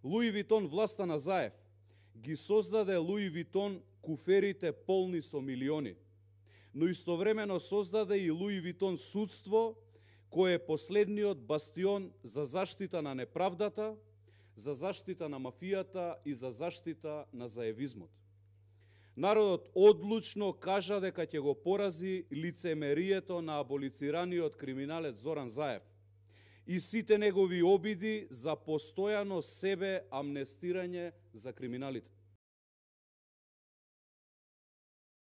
Луи Витон власта на Заев ги создаде Луи Витон куферите полни со милиони, но истовремено создаде и Луи Витон судство, кој е последниот бастион за заштита на неправдата, за заштита на мафијата и за заштита на заевизмот. Народот одлучно кажа дека ќе го порази лицемерието на аболицираниот криминалец Зоран Заев и сите негови обиди за постојано себе амнестирање за криминалите.